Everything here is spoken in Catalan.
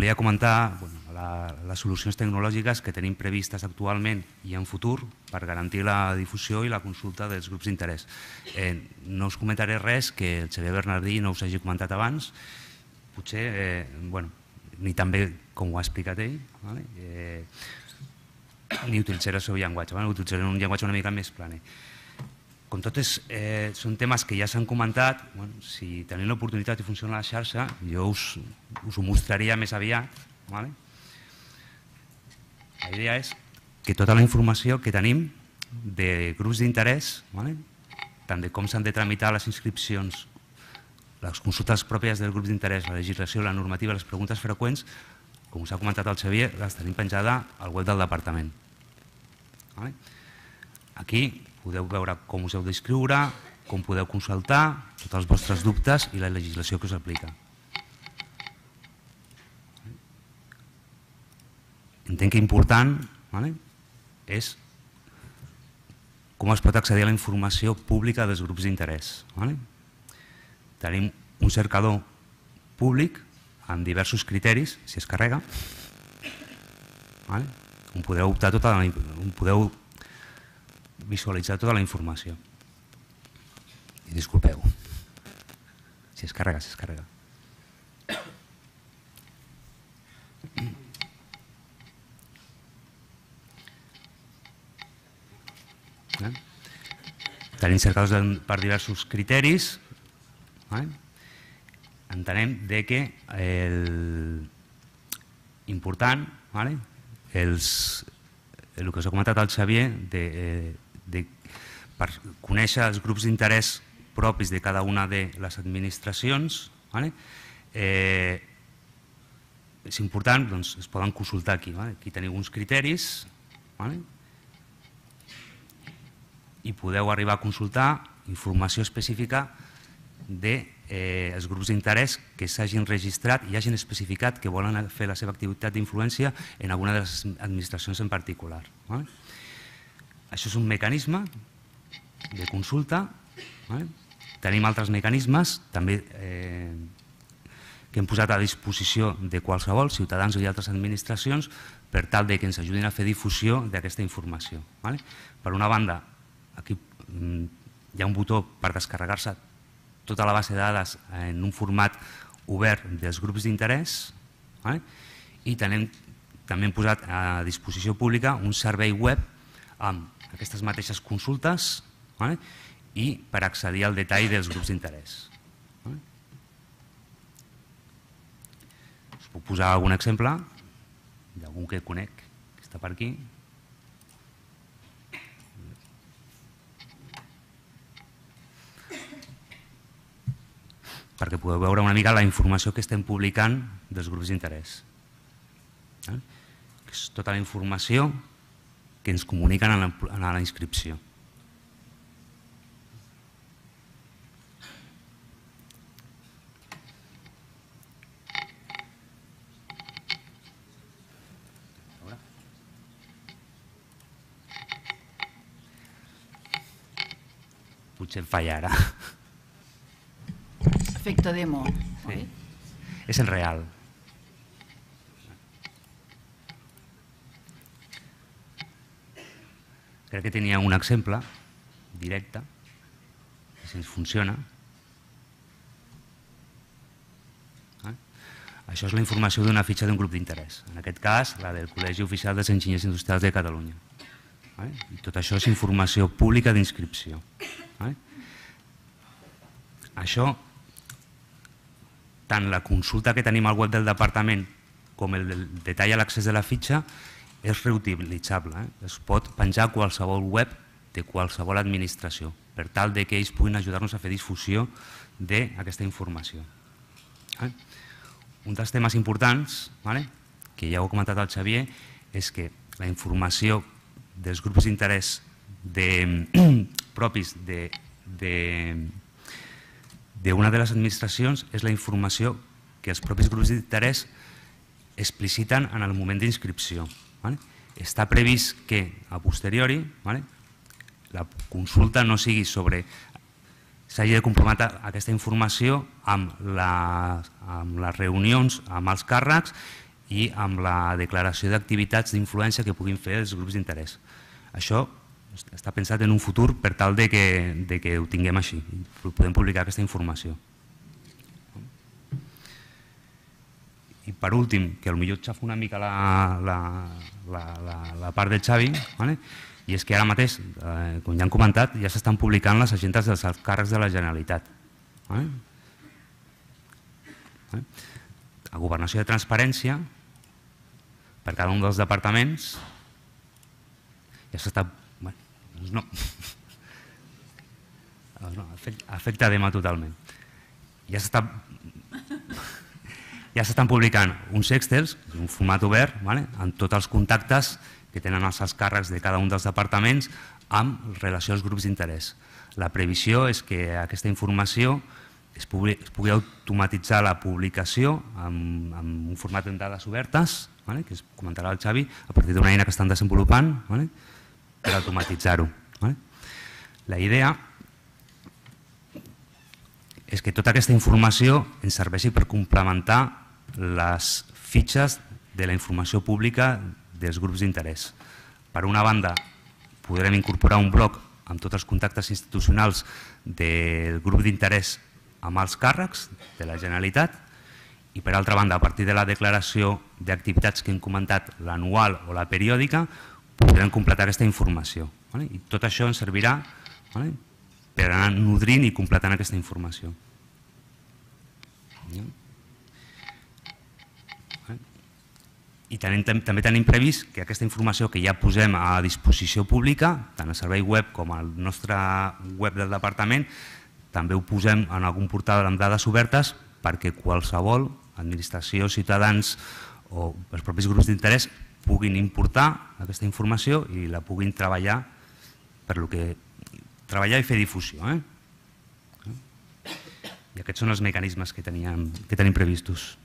volia comentar les solucions tecnològiques que tenim previstes actualment i en futur per garantir la difusió i la consulta dels grups d'interès. No us comentaré res que el Xavier Bernardí no us hagi comentat abans, potser, ni també com ho ha explicat ell, ni utilitzaré el seu llenguatge, utilitzaré un llenguatge una mica més planer. Com totes són temes que ja s'han comentat, si tenim l'oportunitat i funciona la xarxa, jo us ho mostraria més aviat. La idea és que tota la informació que tenim de grups d'interès, tant de com s'han de tramitar les inscripcions, les consultes pròpies dels grups d'interès, la legislació, la normativa, les preguntes freqüents, com us ha comentat el Xavier, les tenim penjada al web del departament. Aquí podeu veure com us heu d'inscriure, com podeu consultar, tots els vostres dubtes i la legislació que us aplica. Entenc que important és com es pot accedir a la informació pública dels grups d'interès. Tenim un cercador públic amb diversos criteris, si es carrega, on podeu visualitzar tota la informació. I disculpeu, si es carrega, si es carrega. Tenim cercadors per diversos criteris. Entenem que l'important, el que us ha comentat el Xavier, per conèixer els grups d'interès propis de cada una de les administracions, és important, es poden consultar aquí. Aquí teniu uns criteris i podeu arribar a consultar informació específica dels grups d'interès que s'hagin registrat i hagin especificat que volen fer la seva activitat d'influència en alguna de les administracions en particular. Això és un mecanisme de consulta. Tenim altres mecanismes també que hem posat a disposició de qualsevol, ciutadans i altres administracions, per tal que ens ajudin a fer difusió d'aquesta informació. Per una banda, aquí hi ha un botó per descarregar-se tota la base de dades en un format obert dels grups d'interès i també hem posat a disposició pública un servei web amb aquestes mateixes consultes i per accedir al detall dels grups d'interès. Us puc posar algun exemple d'algun que conec que està per aquí. Perquè podeu veure una mica la informació que estem publicant dels grups d'interès. És tota la informació que ens comuniquen a la inscripció. Potser em falla ara. Efecte demo. És en real. Crec que tenia un exemple directe, si ens funciona. Això és la informació d'una fitxa d'un grup d'interès. En aquest cas, la del Col·legi Oficial dels Enginyers Industrials de Catalunya. I tot això és informació pública d'inscripció. Això, tant la consulta que tenim al web del departament com el detall a l'accés de la fitxa és reutilitzable. Es pot penjar a qualsevol web de qualsevol administració per tal que ells puguin ajudar-nos a fer difusió d'aquesta informació. Un dels temes importants, que ja ho ha comentat el Xavier, és que la informació dels grups d'interès propis d'una de les administracions és la informació que els propis grups d'interès expliciten en el moment d'inscripció. Està previst que a posteriori la consulta no sigui sobre... s'hagi de comprometre aquesta informació amb les reunions, amb els càrrecs i amb la declaració d'activitats d'influència que puguin fer els grups d'interès. Això està pensat en un futur per tal de que ho tinguem així, podem publicar aquesta informació. I per últim, que potser xafo una mica la part del Xavi, i és que ara mateix, com ja han comentat, ja s'estan publicant les agendes dels alts càrrecs de la Generalitat. A Governació de Transparència, per cada un dels departaments, ja s'està... No. Afecta tema totalment. Ja s'estan publicant uns Excels, un format obert, amb tots els contactes que tenen els alts càrrecs de cada un dels departaments amb relació als grups d'interès. La previsió és que aquesta informació es pugui automatitzar la publicació amb un format de dades obertes, que es comentarà el Xavi, a partir d'una eina que estan desenvolupant per automatitzar-ho. La idea és que tota aquesta informació ens serveixi per complementar les fitxes de la informació pública dels grups d'interès. Per una banda, podrem incorporar un bloc amb tots els contactes institucionals del grup d'interès amb els càrrecs de la Generalitat i, per altra banda, a partir de la declaració d'activitats que hem comentat, l'anual o la periòdica, podrem completar aquesta informació. I tot això ens servirà per anar nodrint i completant aquesta informació. I també tenim previst que aquesta informació que ja posem a disposició pública, tant al servei web com al nostre web del departament, també ho posem en algun portal amb dades obertes perquè qualsevol administració, ciutadans o els propis grups d'interès puguin importar aquesta informació i la puguin treballar i fer difusió. I aquests són els mecanismes que tenim previstos.